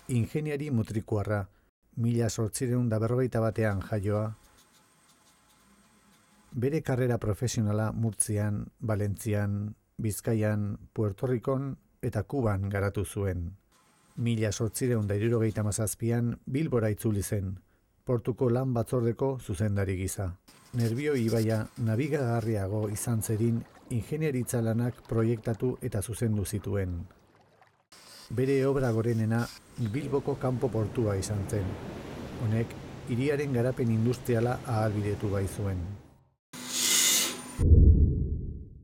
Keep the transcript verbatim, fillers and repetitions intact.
ingeniari mutrikuarra, mila zortziehun eta berrogeita batean jaioa. Bere karrera profesionala Murtzian, Valentzian, Bizkaian, Puerto Ricon eta Kuban garatu zuen. Mila zortziehun eta hirurogeita hamazazpian Bilbora itzuli zen, portuko lan batzordeko zuzendari gisa. Nerbio ibaia nabigagarriago izan zedin ingeniaritza lanak proiektatu eta zuzendu zituen. Bere obra gorenena Bilboko kanpo portua izan zen. Honek, hiriaren garapen industriala ahalbidetu baitzuen.